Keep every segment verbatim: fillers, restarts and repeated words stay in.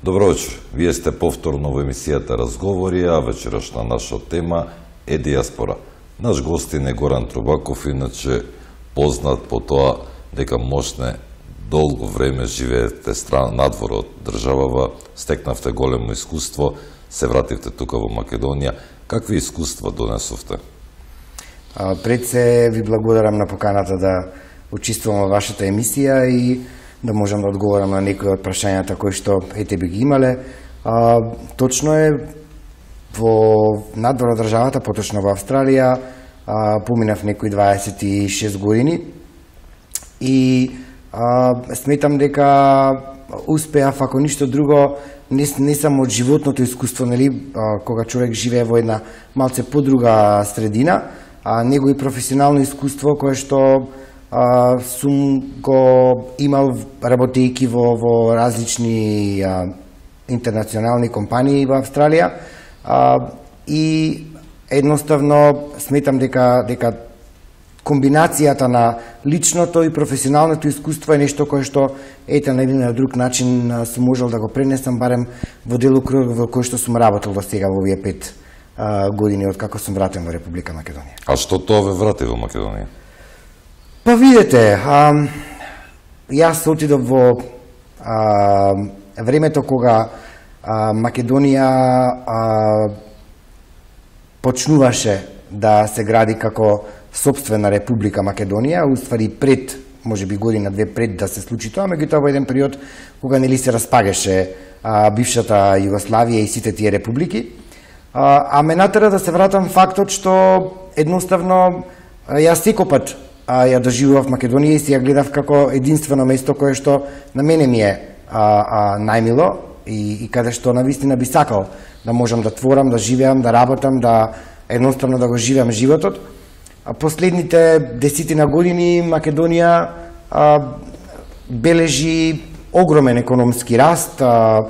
Добро вечер. Вие сте повторно во емисијата Разговори, а вечерашна наша тема е дијаспора. Наш гостин е Горан Трубаков, иначе познат по тоа дека можне долго време живеете страна надвор од државава, стекнавте големо искуство, се вративте тука во Македонија. Какви искуства донесовте? А, пред се ви благодарам на поканата да учествувам во вашата емисија и да можам да одговорам на некои од прашањата кои што ете би ги имале. А, точно е, во надвор од државата, поточно во Австралија, а, поминав некои дваесет и шест години и а, сметам дека успеав, ако ништо друго, не, не само од животното искуство, нели, а, кога човек живее во една малце подруга средина, а него и професионално искуство кое што а, сум го имал работејќи во, во различни а, интернационални компании во Австралија, а, и едноставно сметам дека дека комбинацијата на личното и професионалното искуство е нешто кое што ете на еден или друг начин сум можел да го пренесам барем во делокруг во кој што сум работел до сега во овие пет а, години од како сум вратен во Република Македонија. А што тоа ве врати во Македонија? Па видете, а, јас отидов во а, времето кога а, Македонија а, почнуваше да се гради како сопствена Република Македонија, уствари пред, можеби година две пред да се случи тоа, меѓутоа во еден период кога нели се распагаше а, бившата Југославија и сите тие републики. А, а ме натера да се вратам фактот што едноставно јас секој а, ја доживував Македонија и си ја гледав како единствено место кое што на мене ми е а, а, најмило и, и каде што навистина би сакал да можам да творам, да живеам, да работам, да едноставно да го живеам животот. А последните десетина години Македонија а, бележи огромен економски раст а,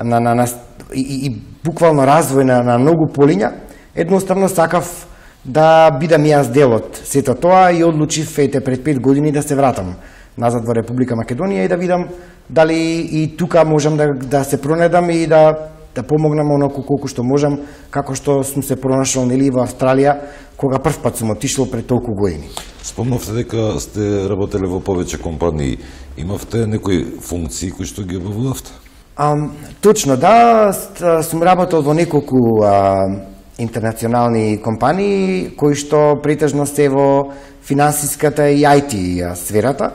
на, на, на, и, и буквално развој на, на многу полиња. Едноставно сакав да бидам јас дел од сето тоа и одлучив ете пред пет години да се вратам назад во Република Македонија и да видам дали и тука можам да, да се пронедам и да да помогнам оноку колку што можам, како што сум се пронашол нели во Австралија, кога прв пат сум отишол пред толку години. Спомнавте дека сте работеле во повеќе компании. Имавте некои функции кои што ги обавувавте? А, точно, да, сум работел во неколку а, интернационални компании, кои што претежно се во финансиската и ај ти сферата.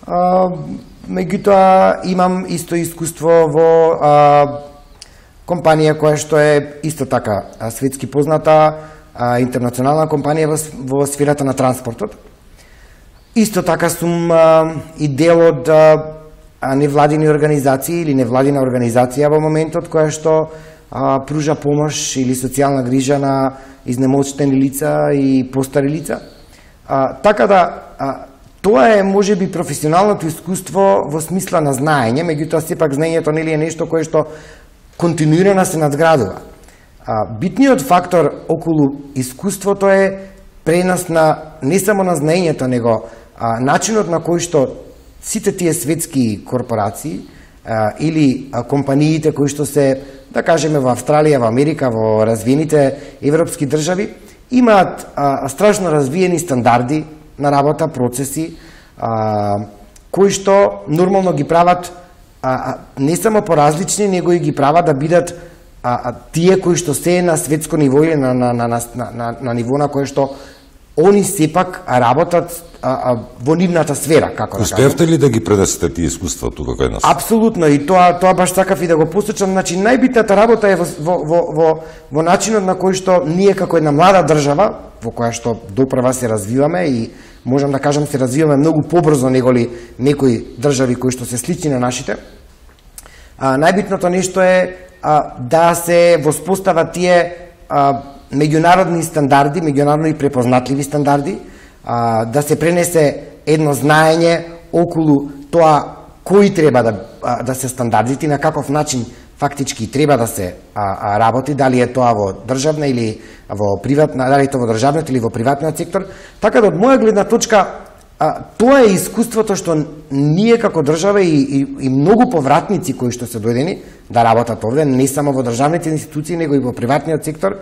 А, меѓутоа, имам исто искуство во а, компанија која што е исто така светски позната, а, интернационална компанија во, во сферата на транспортот. Исто така сум а, и дел од а, невладини организации или невладина организација во моментот која што а, пружа помош или социјална грижа на изнемоштени лица и постари лица. А, така да, а, тоа е можеби професионалното искуство во смисла на знаење, меѓутоа сепак знаењето нели е нешто кое што континуирано се надградува. А, битниот фактор околу искуството е пренос на не само на знаењето, него а, начинот на кој што сите тие светски корпорации а, или а, компаниите кои што се, да кажеме, во Австралија, во Америка, во развиените европски држави, имаат а, страшно развиени стандарди на работа, процеси, а, кои што нормално ги прават А, а, не само поразлични, него и ги прават да бидат а, а, тие кои што се на светско ниво или на, на, на, на, на, на ниво на кое што они сепак работат а, а, во нивната сфера, како да кажам. Успеавте ли да ги пренесете тие искуства тука кај нас? Апсолутно, и тоа тоа баш сакав и да го посочам. Значи, најбитната работа е во, во, во, во, во начинот на кој што ние како една млада држава, во која што допрва се развиваме и можам да кажам се развиваме многу побрзо неголи некои држави кои што се слични на нашите. А, најбитното нешто е а, да се воспостават тие а, меѓународни стандарди, меѓународни препознатливи стандарди, а, да се пренесе едно знаење околу тоа кои треба да, а, да се стандардите, на каков начин фактички треба да се а, а, работи, дали е тоа во државна или во приватна, дали е тоа во државниот или во приватниот сектор. Така да од моја гледна точка А, тоа е искуството што ние како држава и, и, и многу повратници кои што се дојдени да работат овде, не само во државните институции, него и во приватниот сектор,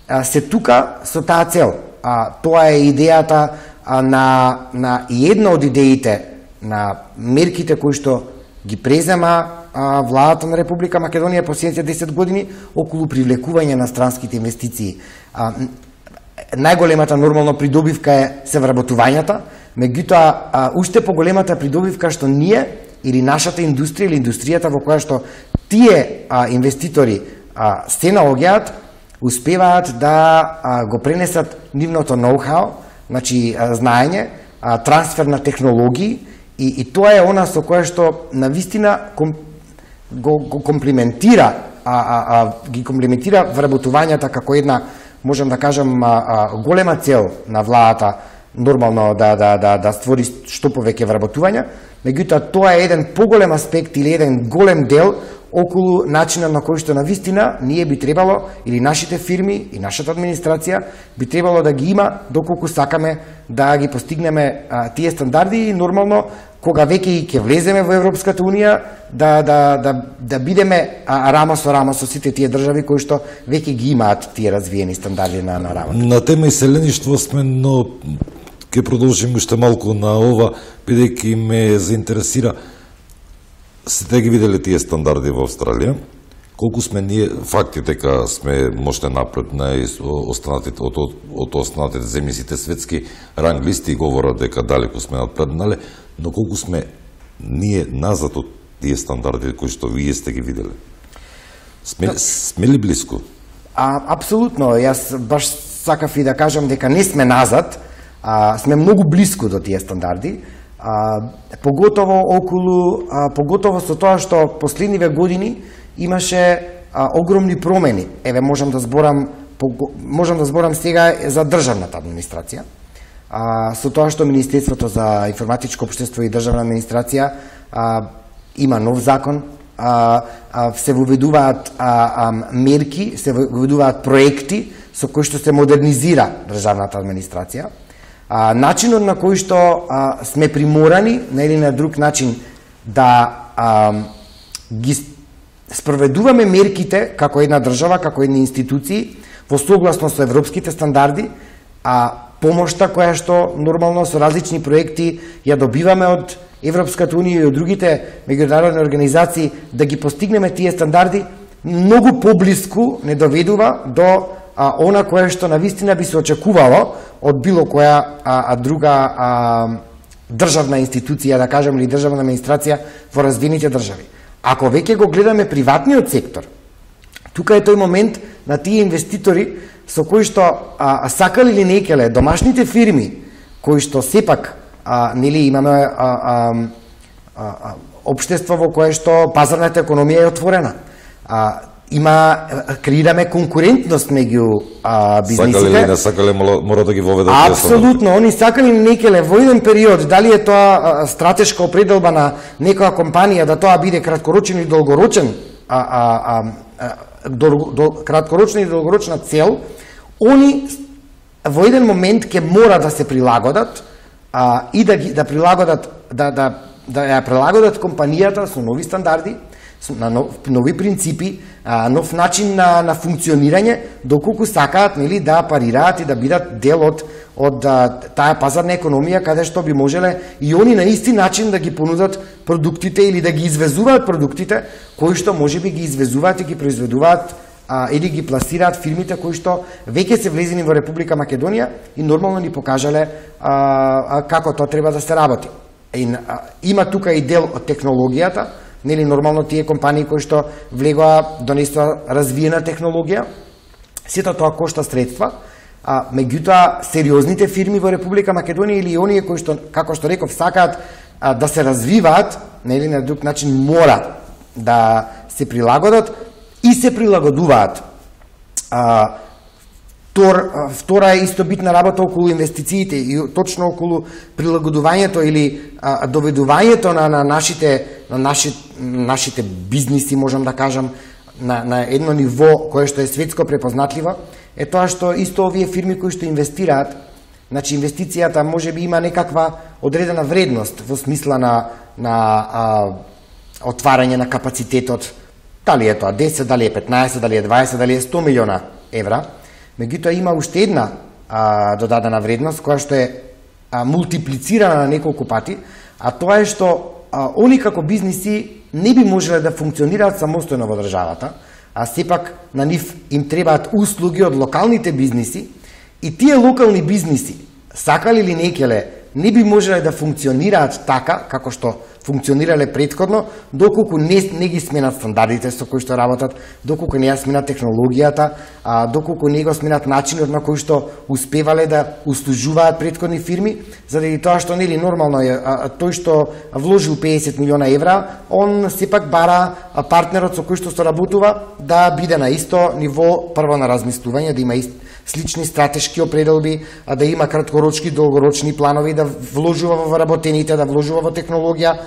а, се тука со таа цел. А, тоа е идејата а, на, на една од идеите на мерките кои што ги презема а, владата на Република Македонија последните десет години околу привлекување на странските инвестиции. А, најголемата нормално придобивка е се вработувањата, меѓутоа а, уште поголемата придобивка што ние или нашата индустрија или индустријата во која што тие а, инвеститори а, се наоѓаат, успеваат да а, го пренесат нивното ноу-хау, значи а, знаење, а, трансфер на технологии, и, и тоа е она со кое што навистина ком, го, го комплиментира, а, а, а, ги комплиментира вработувањата како една, можам да кажам, а, а, голема цел на владата, нормално да, да, да, да створи што повеќе вработувања, меѓутоа тоа е еден поголем аспект или еден голем дел околу начинот на кој што навистина ние би требало, или нашите фирми и нашата администрација би требало да ги има доколку сакаме да ги постигнеме а, тие стандарди и нормално кога веќе и ќе влеземе во Европската унија да, да, да, да бидеме а, рамо со рамо со сите тие држави кои што веќе ги имаат тие развиени стандарди на, на работа. На тема иселеништво сме, но ќе продолжим уште малку на ова, бидејќи ме заинтересира. Сите ги виделе тие стандарди во Австралија, колку сме ние, факти дека сме можете напред на останатите, од, од, од останатите земји, сите светски ранглисти говорат дека далеку сме напреднале, но колку сме ние назад од тие стандарди кои што вие сте ги виделе? Сме, сме ли близко? А, апсолутно, јас баш сакав и да кажам дека не сме назад, а, сме многу близко до тие стандарди, а, поготово околу, а, поготово со тоа што последниве години имаше а, огромни промени. Еве можам да зборам, можам да зборам сега за државната администрација. А, со тоа што Министерството за информатичко општество и државна администрација а, има нов закон, а, а, се воведуваат а, а, мерки, се воведуваат проекти со кои што се модернизира државната администрација. А, начинот на кој што а, сме приморани на или на друг начин да а, ги спроведуваме мерките како една држава, како една институции во согласно со европските стандарди, а помошта која што нормално со различни проекти ја добиваме од Европската унија и од другите меѓународни организации да ги постигнеме тие стандарди, многу поблиску не доведува до а, она кое што навистина би се очекувало од било која а, а друга а, државна институција, да кажем, или државна администрација во развиените држави. Ако веќе го гледаме приватниот сектор, тука е тој момент на тие инвеститори со кои што а, сакали или не келе, домашните фирми кои што сепак а, нели имаме а, а, а, а, општество во кое што пазарната економија е отворена. А, има креираме конкурентност меѓу а, бизнисите. Сакали или не сакали, мора да ги воведат. Апсолутно, они сакали или не келе во еден период, дали е тоа а, стратешка определба на некоја компанија да тоа биде краткорочен и долгорочен, а, а, а, дол, дол, краткорочна и долгорочна цел, они во еден момент ќе мора да се прилагодат а, и да ги да прилагодат да да да ја прилагодат компанијата со нови стандарди, на нов, нови принципи, а, нов начин на, на функционирање, доколку сакаат нели да парираат и да бидат дел од од а, таа пазарна економија каде што би можеле и они на исти начин да ги понудат продуктите или да ги извезуваат продуктите кои што можеби ги извезуваат и ги произведуваат а, или ги пласираат фирмите кои што веќе се влезени во Република Македонија и нормално ни покажале а, а, како тоа треба да се работи. И, а, има тука и дел од технологијата, нели нормално тие компании кои што влегоа донесоа развиена технологија, сето тоа кошта средства, а меѓутоа сериозните фирми во Република Македонија или оние кои што, како што реков, сакаат а, да се развиваат, нели на друг начин мора да се прилагодат и се прилагодуваат. А, Втор, втора е исто битна работа околу инвестициите и точно околу прилагодувањето или а, доведувањето на, на нашите на наши, нашите бизниси, можам да кажам, на, на едно ниво кое што е светско препознатливо, е тоа што исто овие фирми кои што инвестираат, значи инвестицијата може би има некаква одредена вредност во смисла на, на а, отварање на капацитетот, дали е тоа десет, дали е петнаесет, дали е дваесет, дали е сто милиона евра. Меѓутоа има уште една а, додадена вредност која што е а, мултиплицирана на неколку пати, а тоа е што а, они како бизниси не би можеле да функционираат самостојно во државата, а сепак на нив им требаат услуги од локалните бизниси и тие локални бизниси, сакале или некеле, не би можеле да функционираат така како што функционирале предходно, доколку не, не ги сменат стандардите со кои што работат, доколку не ја сменат технологијата, а, доколку не го сменат начинот на кој што успевале да услужуваат предходни фирми, заради тоа што нели нормално е а, тој што вложил песет милиона евра, он сепак бара партнерот со кој што соработува да биде на исто ниво прво на размислување, да има ист, слични стратешки определби, а да има краткорочни, долгорочни планови, да вложува во работените, да вложува во технологија.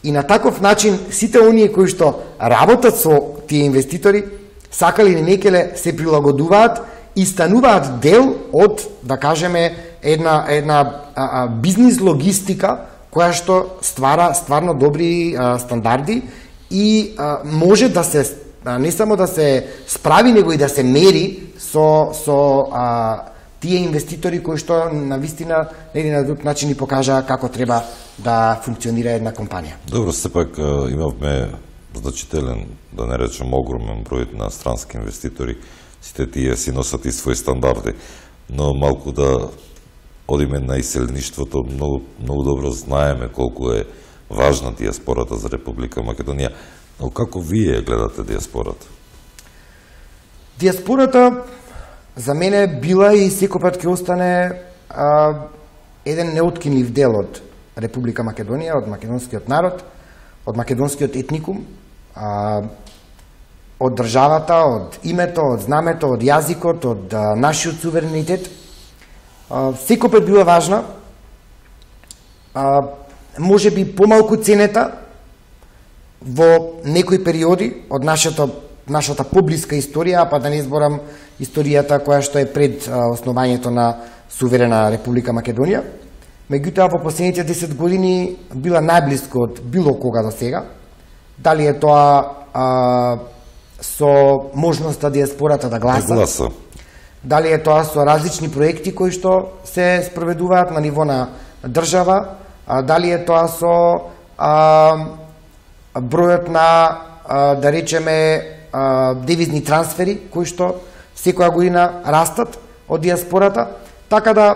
И на таков начин сите оние кои што работат со тие инвеститори, сакали или некеле се прилагодуваат и стануваат дел од, да кажеме, една една а, а, бизнис логистика која што ствара стварно добри а, стандарди и а, може да се а, не само да се справи, него и да се мери со со а, тие инвеститори кои што на вистина или на друг начин ни покажа како треба да функционира една компанија. Добро, сепак имавме значителен, да не речем огромен број на странски инвеститори, сите тие си носат и своји стандарди, но малку да одиме на иселништвото, многу, многу добро знаеме колку е важна диаспората за Република Македонија, но како вие гледате диаспората? Диаспората за мене била и секој ќе остане а, еден неоткинлив дел од Република Македонија, од македонскиот народ, од македонскиот етникум, а, од државата, од името, од знамето, од јазикот, од а, нашиот суверенитет. А, секој била важна, а, може би помалку ценета во некои периоди од нашата нашата поблиска историја, па да не зборам историјата која што е пред а, основањето на суверена Република Македонија. Меѓутоа, во последните десет години била најблиско од било кога до сега. Дали е тоа а, со можноста диаспората да гласа, Да гласа. Дали е тоа со различни проекти кои што се спроведуваат на ниво на држава, а, дали е тоа со а, бројот на, а, да речеме, девизни трансфери кои што секоја година растат од диаспората, така да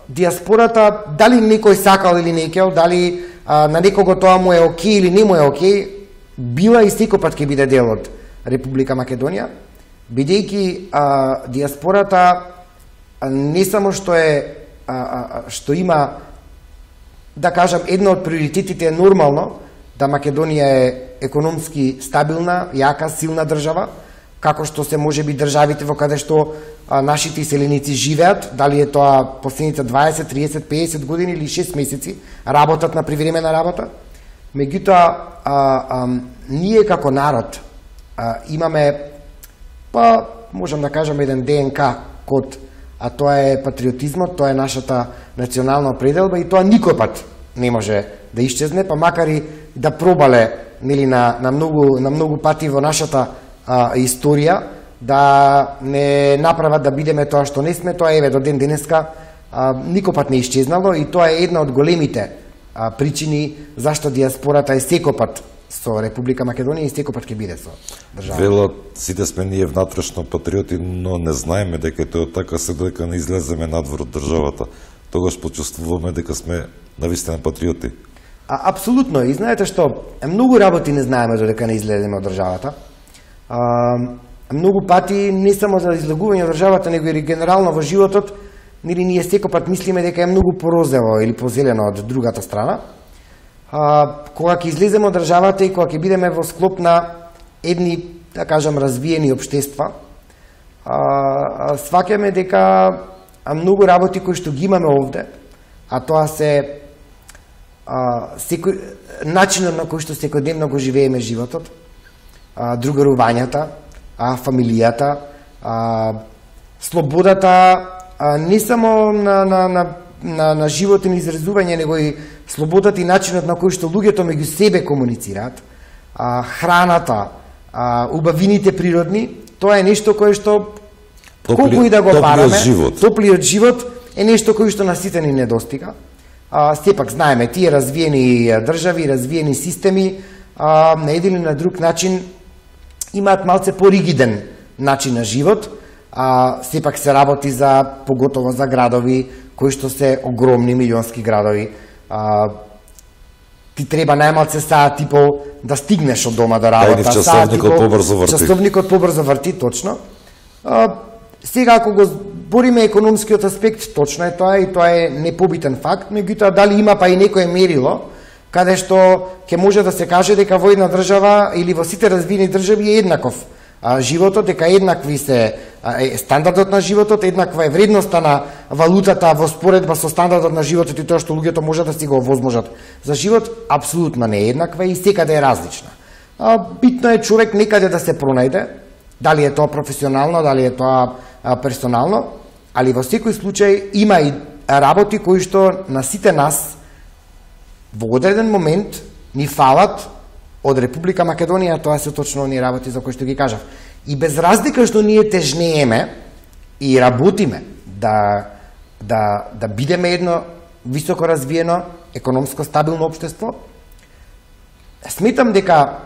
диаспората, дали некој сакал или не кел, дали а, на некого тоа му е окей или не му е окей, била и секојпат ќе биде дел од Република Македонија, бидејќи а, диаспората а, не само што е а, а, што има, да кажам, едно од приоритетите е нормално да Македонија е економски стабилна, јака, силна држава, како што се може би државите во каде што а, нашите иселеници живеат, дали е тоа последните дваесет, триесет, песет години или шест месеци, работат на привремена работа. Меѓутоа, а, а, ние како народ а, имаме, па, можам да кажам, еден ДНК код, а тоа е патриотизмот, тоа е нашата национална определба и тоа никој пат не може да исчезне, па макар и да пробале нели на на многу на многу пати во нашата а, историја да не направат да бидеме тоа што не сме, тоа еве до ден денеска а, никој пат не исчезнало и тоа е една од големите а, причини зашто диаспората е секој пат со Република Македонија и секој пат ќе биде со државата. Велат, сите сме ние внатрешно патриоти, но не знаеме дека тоа така се дека не излеземе надвор од државата. Тогаш почувствуваме дека сме навистина патриоти. А, апсолутно, и знаете што, многу работи не знаеме додека не излеземе од државата. А, многу пати не само за излегување од државата, него и генерално во животот, нели ние секој пат мислиме дека е многу порозево или позелено од другата страна. А, кога ќе излеземе од државата и кога ќе бидеме во склоп на едни, да кажам, развиени општества, а, сваќаме дека многу работи кои што ги имаме овде, а тоа се а, секој, начинот на кој што секојдневно го живееме животот, а, другарувањата, а, фамилијата, а, слободата, а, не само на, на, на на, на живот и на изразување, него и слободата и начинот на кој што луѓето меѓу себе комуницираат, а, храната, а, убавините природни, тоа е нешто кое што Топли, колку и да го бараме, живот. топлиот живот е нешто кој што на сите ни недостига. А, сепак знаеме, тие развиени држави, развиени системи, а, на еден или на друг начин имаат малце поригиден начин на живот, а сепак се работи за, поготово за градови кои што се огромни милионски градови. А, ти треба најмалце саат и пол да стигнеш од дома до работа. Тајни часовникот побрзо врти. Часовникот побрзо врти, точно. А, сега, ако го збориме економскиот аспект, точно е тоа и тоа е непобитен факт, меѓутоа дали има па и некое мерило, каде што ќе може да се каже дека во една држава или во сите развиени држави е еднаков а, животот, дека еднакви се а, е стандардот на животот, еднаква е вредноста на валутата во споредба со стандардот на животот и тоа што луѓето можат да си го овозможат за живот, апсолутно не е еднаква и секаде е различна. А, битно е човек некаде да се пронајде, дали е тоа професионално, дали е тоа а, персонално, али во секој случај има и работи кои што на сите нас во одреден момент ни фалат од Република Македонија, тоа се точно оние работи за кои што ги кажав. И без разлика што ние тежнееме и работиме да, да, да бидеме едно високо развиено, економско стабилно општество, сметам дека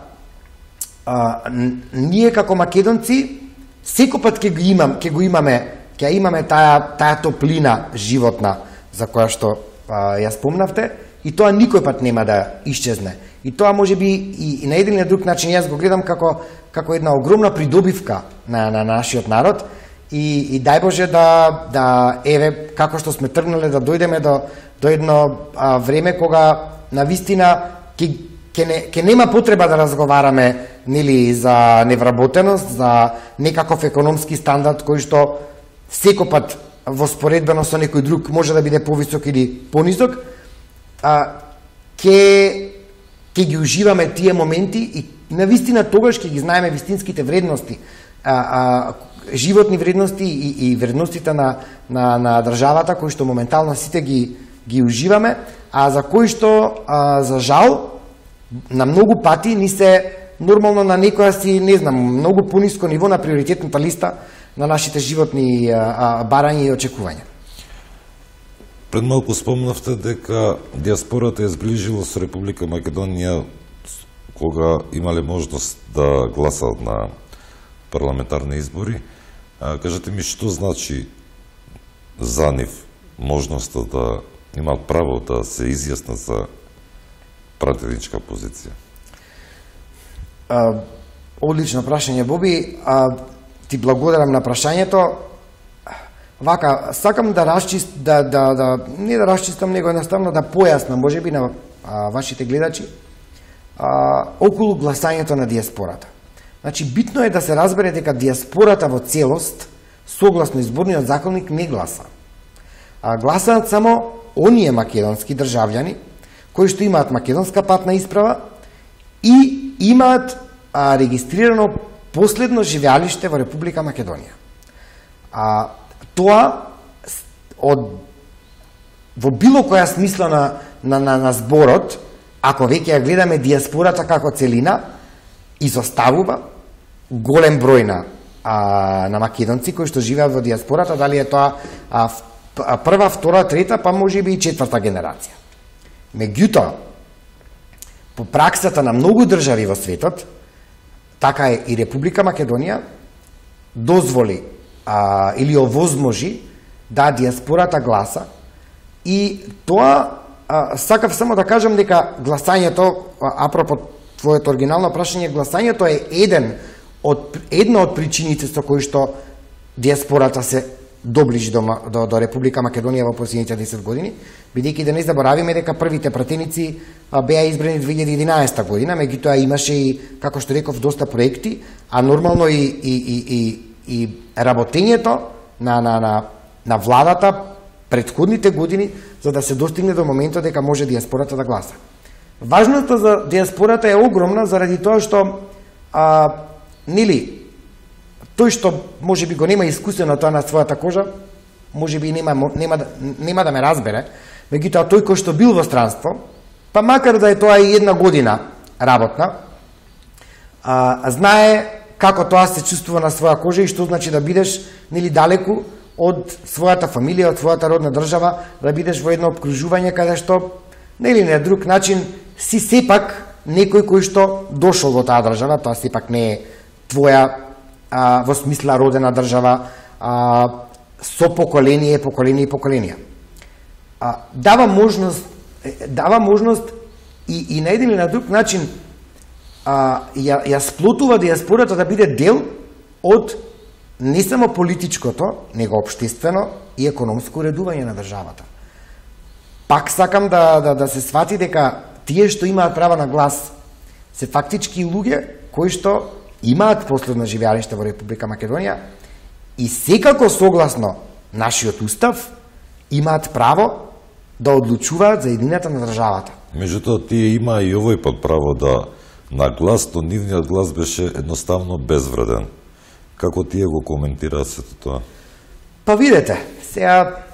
а, ние како македонци секој пат ќе го имам, ќе го имаме, ќе имаме таа таа топлина животна за која што а, ја спомнавте, и тоа никој пат нема да исчезне. И тоа можеби и, и на еден или друг начин јас го гледам како како една огромна придобивка на на нашиот народ и и дај Боже да да еве како што сме тргнале да дојдеме до до едно а, време кога навистина ќе ќе не ќе нема потреба да разговараме нели за невработеност, за некаков економски стандард кој што секој пат во споредбено со некој друг може да биде повисок или понисок. А, ке, ке ги уживаме тие моменти и навистина тогаш ќе ги знаеме вистинските вредности, а, а, животни вредности и, и вредностите на, на, на државата, кои што моментално сите ги, ги уживаме, а за кои што, а, за жал, на многу пати ни се нормално на некоја си, не знам, многу пониско ниво на приоритетната листа на нашите животни а, а, барања и очекувања. Пред малку спомнавте дека диаспората е зближила со Република Македонија кога имале можност да гласат на парламентарни избори. А, кажете ми, што значи за нив можноста да имаат право да се изјаснат за пратеничка позиција? А, одлично прашање, Боби. А, ти благодарам на прашањето. Вака, сакам да расчист, да, да, да, не да расчистам, него едноставно да појаснам, можеби на а, вашите гледачи, а, околу гласањето на диаспората. Значи, битно е да се разбере дека диаспората во целост, согласно изборниот законник, не гласа. А, гласаат само оние македонски државјани, кои што имаат македонска патна исправа и имаат а, регистрирано последно живеалиште во Република Македонија. А, Тоа од во било која смисла на, на, на, на зборот, ако веќе ја гледаме диаспората како целина, изоставува голем број на, а, на македонци кои што живеат во диаспората, дали е тоа а, прва, втора, трета, па може би и четврта генерација. Меѓутоа, по праксата на многу држави во светот, така е и Република Македонија дозволи А, или овозможи да диаспората гласа и тоа а, сакав само да кажам дека гласањето, апропо твоето оригинално прашање, гласањето е еден од една од причините со кои што диаспората се доближи до, до, до Република Македонија во последните десет години, бидејќи да не заборавиме дека првите пратеници а, беа избрани две илјади и единаесета година, меѓутоа имаше и, како што реков, доста проекти, а нормално и, и, и, и и работењето на, на, на, на владата претходните години за да се достигне до моментот дека може диаспората да гласа. Важноста за диаспората е огромна заради тоа што а, нели тој што може би го нема искусено тоа на својата кожа, можеби нема нема нема да ме разбере, меѓутоа тој кој што бил во странство, па макар да е тоа и една година работна, а, знае како тоа се чувствува на своја кожа и што значи да бидеш нели далеку од својата фамилија, од својата родна држава, да бидеш во едно обкружување каде што нели на друг начин си сепак некој кој што дошол во таа држава, тоа сепак не е твоја а, во смисла родена држава, а, со поколение, поколение и поколенија. А, дава можност, дава можност и, и на еден или на друг начин а, ја, ја сплотува диаспората да биде дел од не само политичкото, него општествено и економско уредување на државата. Пак сакам да, да, да се свати дека тие што имаат права на глас се фактички луѓе кои што имаат последно живеалиште во Република Македонија и секако согласно нашиот устав имаат право да одлучуваат за едината на државата. Меѓутоа, тие има и овој пат право да на глас, но нивниот глас беше едноставно безвреден. Како тие го коментираат сето тоа? Па видете, сега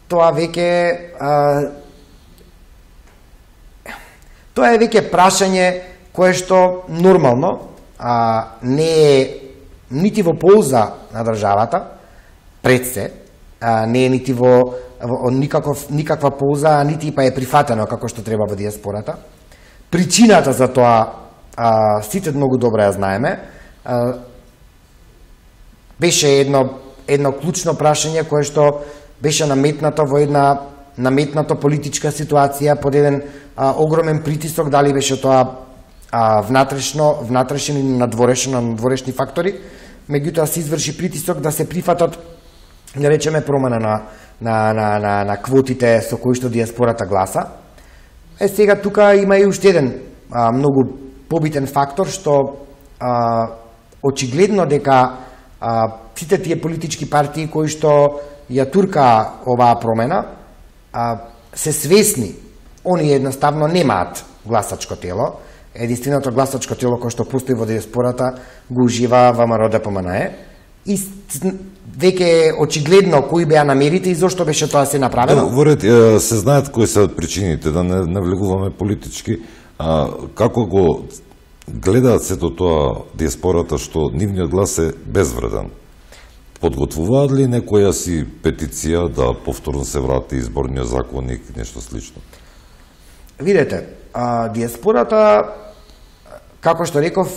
тоа веќе а, тоа е веќе прашање кое што нормално а, не е нити во полза на државата, пред се, а, не е нити во, во никаков, никаква полза, нити па е прифатено како што треба во диаспората. Причината за тоа а, сите многу добро ја знаеме. А, беше едно, едно клучно прашање кое што беше наметнато во една наметната политичка ситуација под еден а, огромен притисок, дали беше тоа а, внатрешно, внатрешен или надворешно, надворешни фактори, меѓутоа се изврши притисок да се прифатат, да речеме, промена на, на, на, на, на квотите со кои што диаспората гласа. Е, сега тука има и уште еден а, многу побитен фактор, што а, очигледно дека а, сите тие политички партии кои што ја турка оваа промена, а, се свесни, они едноставно немаат гласачко тело. Единственото гласачко тело кое што постои во диаспората го ужива ВМРО Д П М Н Е. И веќе очигледно кои беа намерите и зошто беше тоа се направено. Да, во ред, се знаат кои се причините, да не навлегуваме политички. А, како го гледаат сето тоа диаспората што нивниот глас е безвреден? Подготвуваат ли некоја си петиција да повторно се врати изборниот законник, нешто слично? Видете, а, диаспората, како што реков,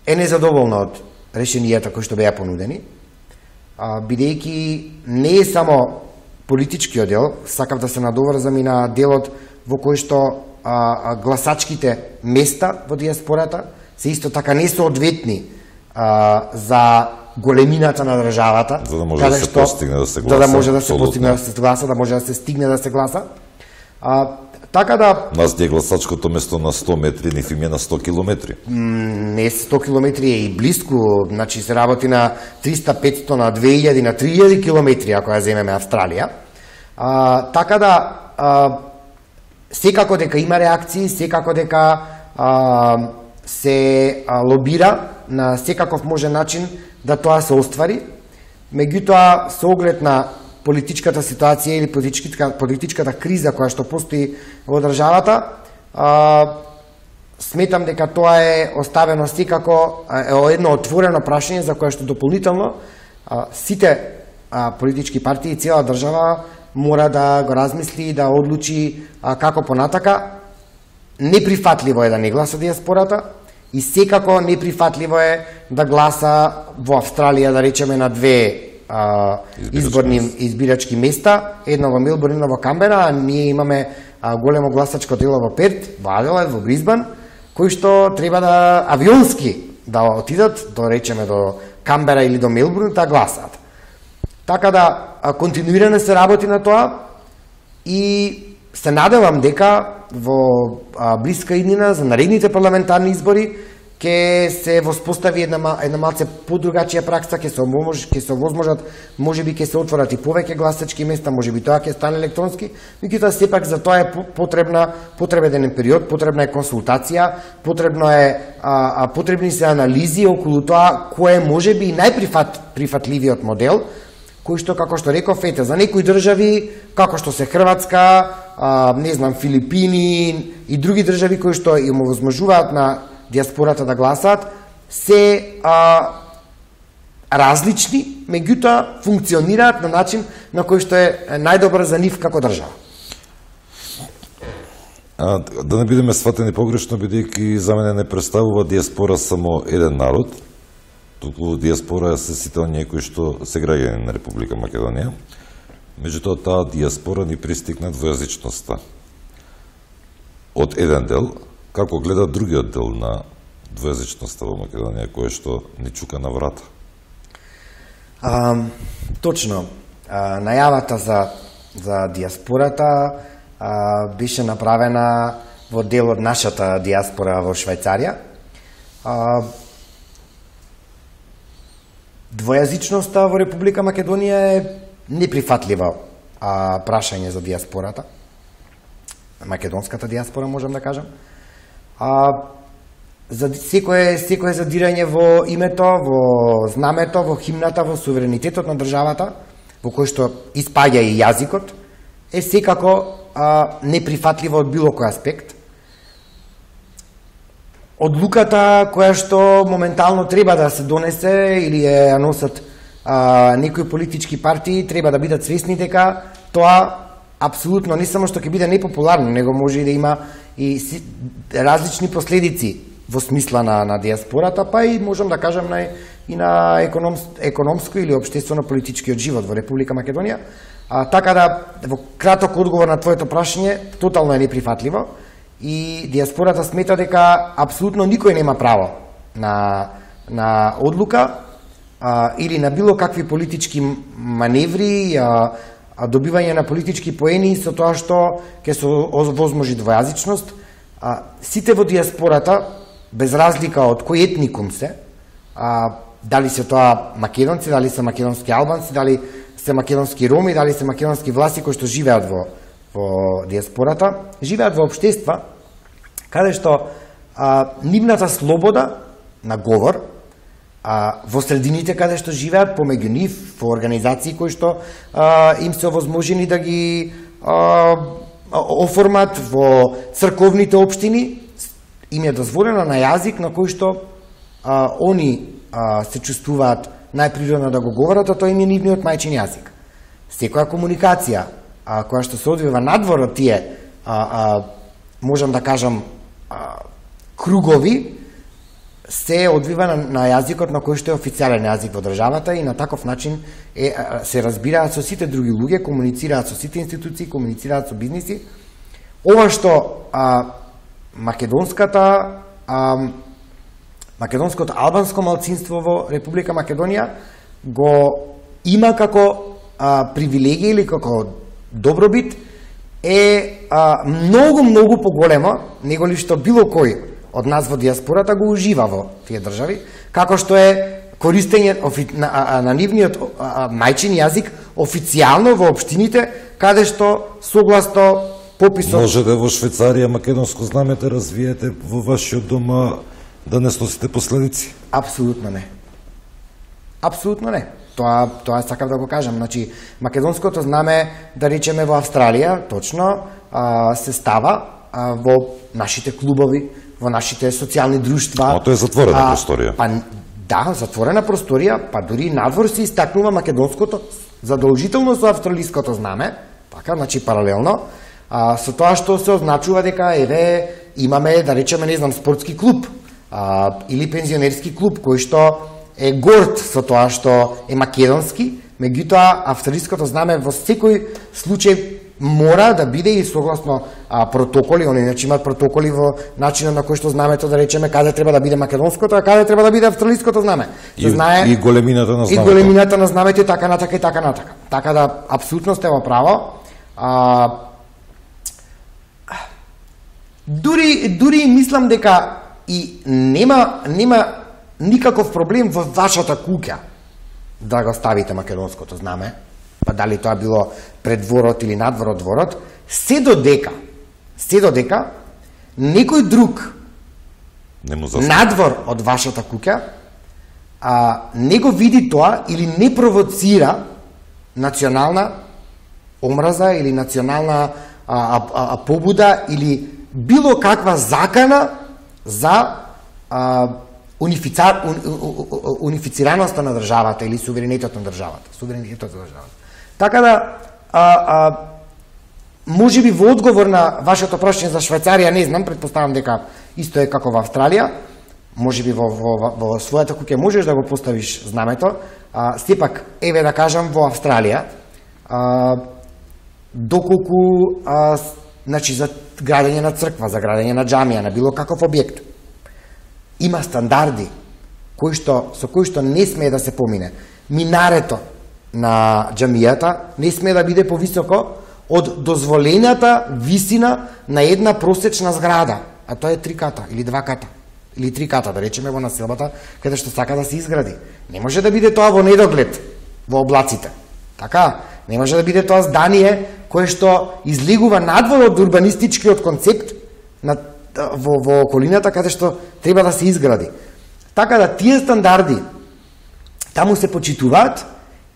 е незадоволна од решенијата кои што беа понудени, а, бидејќи не е само политичкиот дел, сакав да се надоврзам и на делот во кој што а, гласачките места во диаспората се исто така не соодветни а, за големината на државата, за да може да се што, постигне да се гласа, за да може да се абсолютно. постигне да се гласа, да може да се стигне да се гласа. А, така да Нас е гласачкото место на сто метри, ниф им е на сто километри. не сто километри е и блиску, значи се работи на триста, петсто, на две илјади, на три илјади километри, ако ја земеме Австралија. А, така да, а, секако дека има реакции, секако дека а, се а, лобира на секаков можен начин да тоа се оствари, меѓутоа со оглед на политичката ситуација или политичката, политичката криза која што постои во државата, а, сметам дека тоа е оставено секако е едно отворено прашање за кое што дополнително а, сите а, политички партии и цела држава мора да го размисли и да одлучи а, како понатака. Неприфатливо е да не гласа диаспората и секако неприфатливо е да гласа во Австралија, да речеме, на две а, изборни избирачки места, едно во Мелбурн, едно во Камбера, а ние имаме а, големо гласачко дело во Перт, во Аделаид, во Брисбан, кои што треба да авионски да отидат, до речеме до Камбера или до Мелбурн, да гласаат. Така да а, континуирано се работи на тоа и се надевам дека во а, блиска иднина за наредните парламентарни избори ќе се воспостави една една малце подругачија пракса, ќе се оможи, ќе се овозможат, можеби ќе се отворат и повеќе гласачки места, можеби тоа ќе стане електронски, меѓутоа сепак за тоа е потребна потребен период, потребна е консултација, потребно е а, а, потребни се анализи околу тоа кој е можеби најприфатливиот модел, кои што, како што реков, ете, за некои држави, како што се Хрватска, а, не знам, Филипини и други држави кои што им овозможуваат на диаспората да гласаат, се а, различни, меѓутоа функционираат на начин на кој што е најдобар за нив како држава. А, да не бидеме сватени погрешно, бидејќи за мене не представува диаспора само еден народ, туку диаспора се сите оние кои што се граѓани на Република Македонија. Меѓутоа, таа диаспора ни пристигна двојазичноста. Од еден дел, како гледа другиот дел на двојазичноста во Македонија, кој што ни чука на врата. А, точно. А, најавата за, за диаспората а, беше направена во дел од нашата диаспора во Швајцарија. А, Двојазичноста во Република Македонија е неприфатлива а, прашање за диаспората. Македонската диаспора, можам да кажам. А, за секое, секое задирање во името, во знамето, во химната, во суверенитетот на државата, во кој што испаѓа и јазикот, е секако а, неприфатливо од било кој аспект. Одлуката која што моментално треба да се донесе или ја носат а, некои политички партии, треба да бидат свесни дека тоа апсолутно не само што ќе биде непопуларно, него може и да има и си, различни последици во смисла на, на диаспората, па и можам да кажам на, и на економс, економско или општествено-политичкиот живот во Република Македонија. А, така да, во краток одговор на твоето прашање, тотално е неприфатливо и диаспората смета дека апсолутно никој нема право на, на одлука а, или на било какви политички маневри, а, а добивање на политички поени со тоа што ќе се возможи двојазичност. А, сите во диаспората, без разлика од кој етникум се, а, дали се тоа македонци, дали се македонски албанци, дали се македонски роми, дали се македонски власти кои што живеат во, во диаспората, живеат во општества каде што а, нивната слобода на говор, а, во средините каде што живеат, помеѓу нив, во организации кои што а, им се овозможени да ги а, оформат во црковните општини, им е дозволено на јазик на кој што а, они а, се чувствуваат најприродно да го говорат, а тоа им е нивниот мајчин јазик. Секоја комуникација а, која што се одвива надвор од тие, а, а, можам да кажам, а, кругови, се одвива на, на јазикот на кој што е официјален јазик во државата и на таков начин е, се разбираат со сите други луѓе, комуницираат со сите институции, комуницираат со бизниси. Ова што а, македонската а, македонското албанско малцинство во Република Македонија го има како а, привилегија или како добробит е а, многу, многу поголемо него ли што било кој од нас во диаспората го ужива во тие држави, како што е користење на, на, на нивниот а, мајчин јазик официјално во општините, каде што согласно пописот... Може да во Швајцарија македонско знаме да развиете во вашиот дома да не сносите последици? Апсолутно не. Апсолутно не. Тоа, тоа сакав да го кажам. Значи, македонското знаме, да речеме во Австралија, точно, а, се става а, во нашите клубови, во нашите социјални друштва. А тоа е затворена а, просторија. Па, да, затворена просторија, па дури надвор се истакнува македонското задолжително со австралиското знаме, така, значи паралелно, а, со тоа што се означува дека, еве, имаме, да речеме, не знам, спортски клуб, а, или пензионерски клуб, кој што е горд со тоа што е македонски, меѓутоа австралиското знаме во секој случај мора да биде и согласно а, протоколи, они значи имаат протоколи во начинот на кој што знамето, да речеме, каде треба да биде македонското, а каде треба да биде австралиското знаме. И, знае, и големината на знамето. И големината на знамето и така натака и така натака. Така да апсолутно сте во право. А, дури дури мислам дека и нема нема никаков проблем во вашата куќа да го ставите македонското знаме, па дали тоа било пред дворот или надвор од дворот, се додека, се додека некој друг не му надвор од вашата куќа а, не го види тоа или не провоцира национална омраза или национална а, а, а, побуда или било каква закана за а, унифицар, уни, унифицираноста на државата или суверенитетот на државата, суверенитетот на државата. Така да а, а, може би во одговор на вашето прашање за Швајцарија, не знам, претпоставам дека исто е како во Австралија, може би во, во, во, во својата куќа можеш да го поставиш знамето, а, сепак, еве да кажам, во Австралија, а, доколку, а, значи, за градење на црква, за градење на џамија, на било каков објект, има стандарди кои што, со кои што не смее да се помине. Минарето на џамијата не смее да биде повисоко од дозволената висина на една просечна зграда, а тоа е три ката или два ката, или три ката, да речеме во населбата, каде што сака да се изгради. Не може да биде тоа во недоглед, во облаците. Така, не може да биде тоа здание кое што излегува надвор од урбанистичкиот концепт на, во, во околината каде што треба да се изгради. Така да тие стандарди таму се почитуваат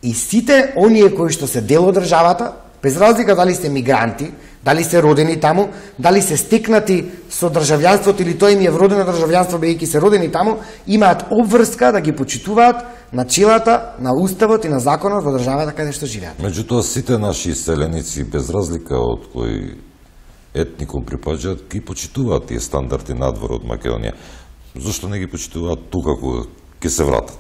и сите оние кои што се дел од државата, без разлика дали се мигранти, дали се родени таму, дали се стекнати со државјанството или тоа им е вродено државјанство бидејќи се родени таму, имаат обврска да ги почитуваат начелата на уставот и на законот во државата каде што живеат. Меѓутоа сите наши иселеници, без разлика од кој етникум припаѓаат, ги почитуваат тие стандарди надвор од Македонија. Зошто не ги почитуваат тука кога ќе се вратат?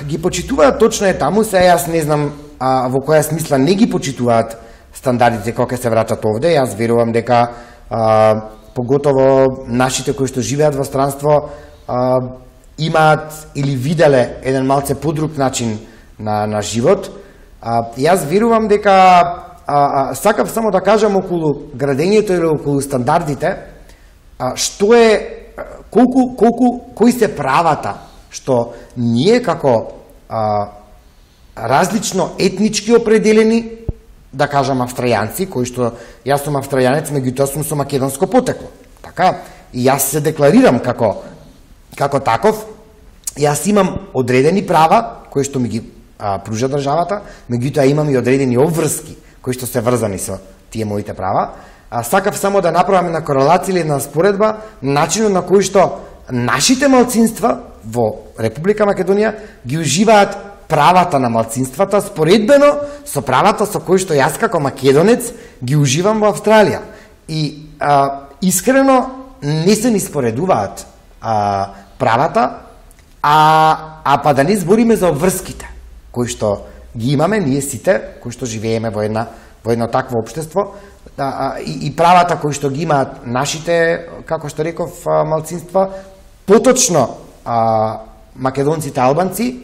Ги почитуваат, точно е таму, се јас не знам а, во која смисла не ги почитуваат стандардите кога ќе се вратат овде. Јас верувам дека а, поготово нашите кои што живеат во странство а, имаат или виделе еден малце подруг начин на, на живот. А, јас верувам дека а, а, сакав само да кажам околу градењето или околу стандардите, а, што е, колку, колку, кои се правата што ние како а, различно етнички определени, да кажам австрајанци, кои што јас сум австрајанец, меѓутоа сум со македонско потекло. Така, и јас се декларирам како како таков, јас имам одредени права кои што ми ги а, пружа државата, меѓутоа имам и одредени обврски кои што се врзани со тие моите права. А, сакав само да направам една корелација или една споредба начинот на кој што нашите малцинства во Република Македонија ги уживаат правата на малцинствата споредбено со правата со кои што јас како македонец ги уживам во Австралија. И а, искрено не се ни споредуваат а, правата, а, а па да не збориме за обврските кои што ги имаме ние сите, кои што живееме во една во едно такво општество, а, а, и, и правата кои што ги имаат нашите, како што реков, а, малцинства, поточно а, македонците албанци,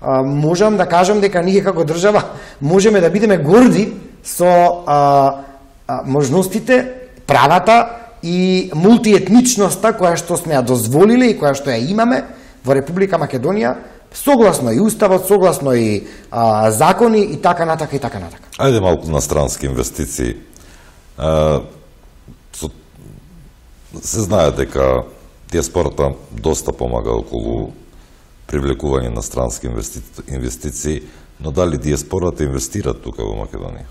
а, можам да кажам дека ние како држава можеме да бидеме горди со а, а, можностите, правата и мултиетничноста која што сме ја дозволиле и која што ја имаме во Република Македонија, согласно и уставот, согласно и а, закони и така натака и така натака. Ајде малку на странски инвестиции. А, со, се знае дека диаспората доста помага околу привлекување на странски инвести... инвестиции, но дали диаспората инвестира тука во Македонија?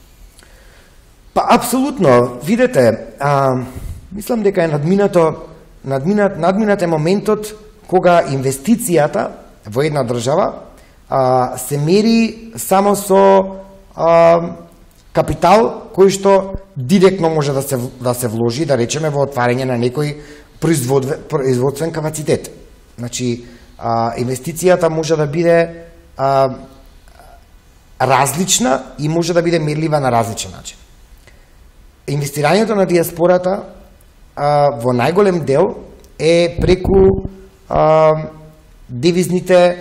Па, апсолутно. Видете, а, мислам дека е надминато, надминат, надминат е моментот кога инвестицијата во една држава а, се мери само со а, капитал кој што директно може да се, да се вложи, да речеме, во отварање на некој производствен капацитет. Значи, а, инвестицијата може да биде а, различна и може да биде мерлива на различен начин. Инвестирањето на диаспората а, во најголем дел е преку а, девизните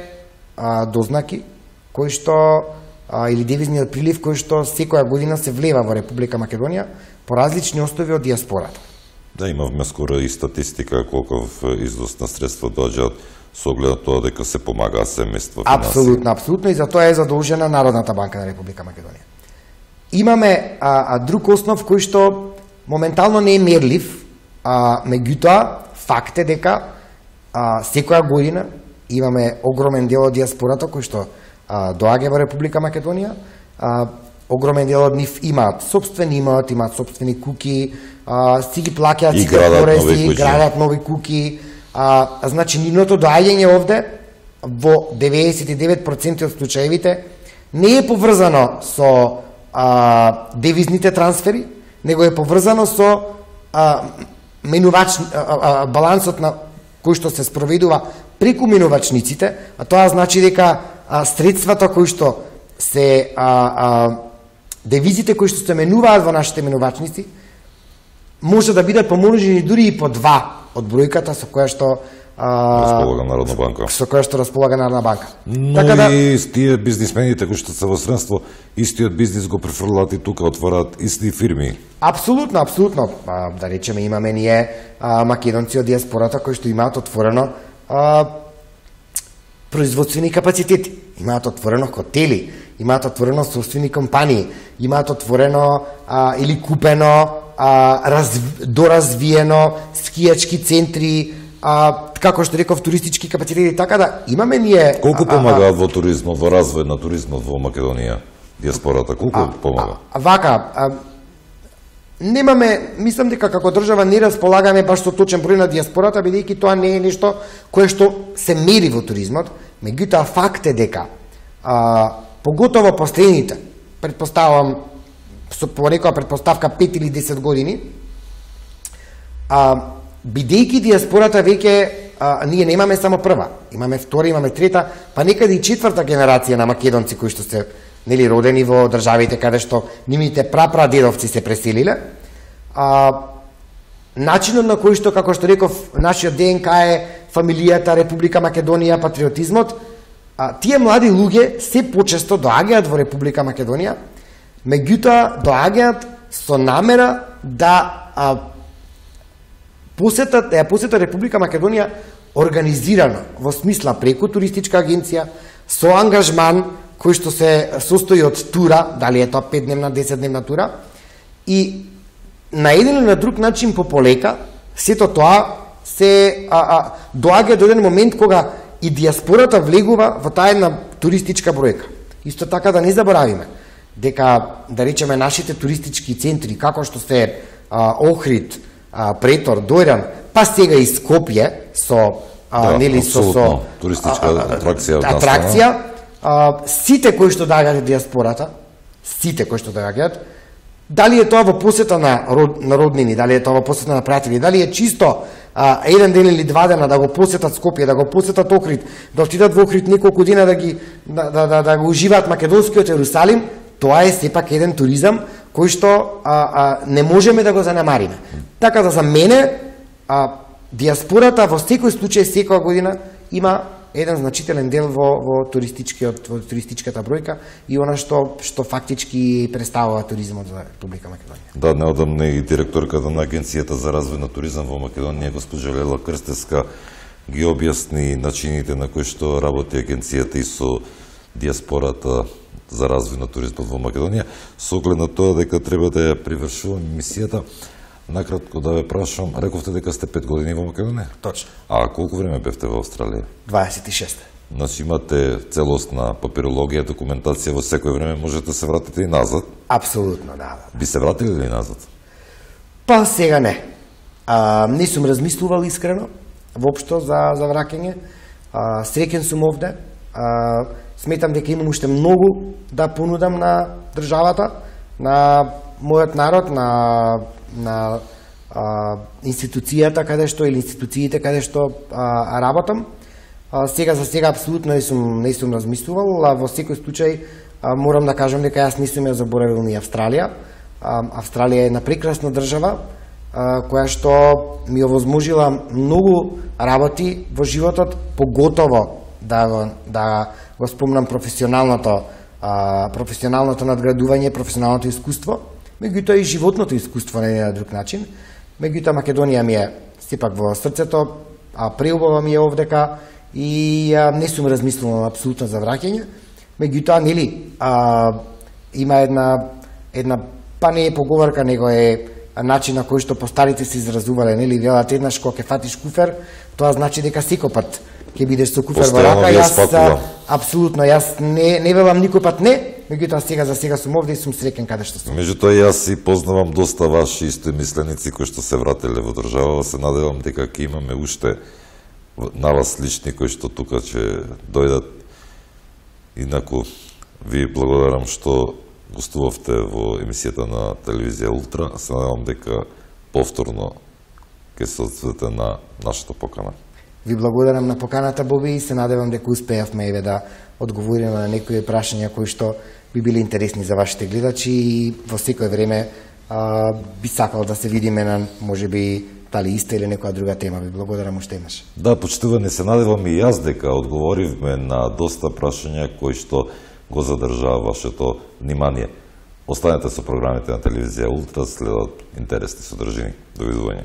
а, дознаки кои што а, или девизниот прилив кој што секоја година се влева во Република Македонија по различни основи од диаспората. Да, имавме скоро и статистика колков износ на средства доаѓаат со оглед на тоа дека се помага семејство финансии. Апсолутно, апсолутно, и за тоа е задолжена Народната банка на Република Македонија. Имаме а, а, друг основ кој што моментално не е мерлив, а, меѓутоа факт е дека а, секоја година имаме огромен дел од диаспората кој што а, доаѓа во Република Македонија. А, огромен дел од нив имаат собствен имот, имаат собствени куки, а, си ги плаќаат И сите градат нови пореси, куќи. градат нови куки. А, значи, нивното доаѓање овде во деветдесет и девет проценти од случаевите не е поврзано со а, девизните трансфери, него е поврзано со а, менувач, а, а, балансот на кој што се спроведува преку менувачниците, а тоа значи дека а, средствата кои што се а, а, девизите кои што се менуваат во нашите менувачници може да бидат помножени дури и по два од бројката со која што а, Располага Народна банка. со која што располага Народна банка. Но Така да, и тие бизнисмените кои што се во средство, истиот бизнис го префрлаат и тука, отвораат исти фирми. апсолутно, апсолутно, а, да речеме, имаме ние а, македонци од диаспората кои што имаат отворено а, производствени капацитети, имаат отворено хотели, имаат отворено собствени компании, имаат отворено а, или купено а, раз, доразвиено скијачки центри, а, како што реков, туристички капацитети, така да имаме ние... Колку а, а, помагаат во туризмот, во развој на туризмот во Македонија? Диаспората, колку помага? А, вака, а, немаме, мислам дека како држава не располагаме баш со точен број на диаспората, бидејќи тоа не е нешто кое што се мери во туризмот, меѓутоа факт е дека, а, поготово последните, предпоставам, со порекоа предпоставка пет или десет години, а, бидејќи диаспората веќе, а, ние немаме само прва, имаме втора, имаме трета, па некаде и четврта генерација на македонци кои што се нели родени во државите каде што нивните прапрадедовци се преселиле. А, начинот на кој што, како што реков, нашиот ДНК е фамилијата, Република Македонија, патриотизмот, а, тие млади луѓе се почесто доаѓаат во Република Македонија, меѓутоа доаѓаат со намера да а, посетат, да ја посетат Република Македонија организирано, во смисла преку туристичка агенција, со ангажман кој што се состои од тура, дали е тоа петдневна, десетдневна тура, и на еден или на друг начин по полека, сето тоа се а, а, доаѓа до еден момент кога и диаспората влегува во таа една туристичка бројка. Исто така да не заборавиме дека, да речеме, нашите туристички центри, како што се а, Охрид, а, Претор, Дојран, па сега и Скопје со а, Да, нели со со туристичка атракција од атракција, а, сите кои што доаѓаат од диаспората, сите кои што доаѓаат, дали е тоа во посета на, род, на роднини, дали е тоа во посета на пријатели, дали е чисто а, еден ден или два дена да го посетат Скопје, да го посетат Охрид, да отидат во Охрид неколку дена да ги да, да, да, да го уживаат македонскиот Ерусалим, тоа е сепак еден туризам кој што а, а, не можеме да го занемариме. Така да за мене а, диаспората во секој случај секоја година има еден значителен дел во, во туристичкиот во туристичката бројка и она што што фактички представува туризмот за Република Македонија. Да, неодамна и директорката на Агенцијата за развој на туризам во Македонија, госпожа Лела Крстеска, ги објасни начините на кои што работи агенцијата и со диаспората за развој на туризмот во Македонија, со оглед на тоа дека треба да ја привршуваме мисијата. Накратко да ве прашам, рековте дека сте пет години во Македонија? Точно. А колку време бевте во Австралија? дваесет и шест. Значи имате целосна папирологија, документација, во секој време можете да се вратите и назад. Апсолутно, да. Би се вратили ли назад? Па сега не. А, не сум размислувал искрено воопшто за за враќање. А, среќен сум овде. А, сметам дека имам уште многу да понудам на државата, на мојот народ, на на а, институцијата каде што или институциите каде што а, работам. А, сега за сега апсолутно не сум не сум размислувал, а во секој случај а, морам да кажам дека јас не сум ја заборавил ни Австралија. А, Австралија е една прекрасна држава а, која што ми овозможила многу работи во животот, поготово да го, да го спомнам професионалното а, професионалното надградување, професионалното искуство, меѓутоа и животното искуство на еден друг начин. Меѓутоа Македонија ми е сепак во срцето, а преубава ми е овдека и а, не сум размислувал апсолутно за враќање. Меѓутоа, нели, а, има една една па не е поговорка, него е начин на кој што постарите се изразувале, нели, велат еднаш кога ќе фатиш куфер, тоа значи дека секој пат ќе бидеш со куфар во Постојано рака, ви ја јас спакувам. апсолутно јас не не велам никој пат не, меѓутоа сега за сега сум овде и сум среќен каде што сум. Меѓутоа јас и познавам доста ваши истоимисленици кои што се вратиле во држава, се надевам дека ќе имаме уште на вас лични кои што тука ќе дојдат. Инаку ви благодарам што гостувавте во емисијата на телевизија Ултра. Се надевам дека повторно ќе се одзовете на нашата покана. Ви благодарам на поканата, Боби, и се надевам дека успеавме еве да одговориме на некои прашања кои што би били интересни за вашите гледачи и во секој време а, би сакал да се видиме на можеби дали иста или некоја друга тема. Ви благодарам уште еднаш. Да, почитувани, се надевам и јас дека одговоривме на доста прашања кои што го задржаа вашето внимание. Останете со програмите на телевизија Ултра, следат интересни содржини. Довидување.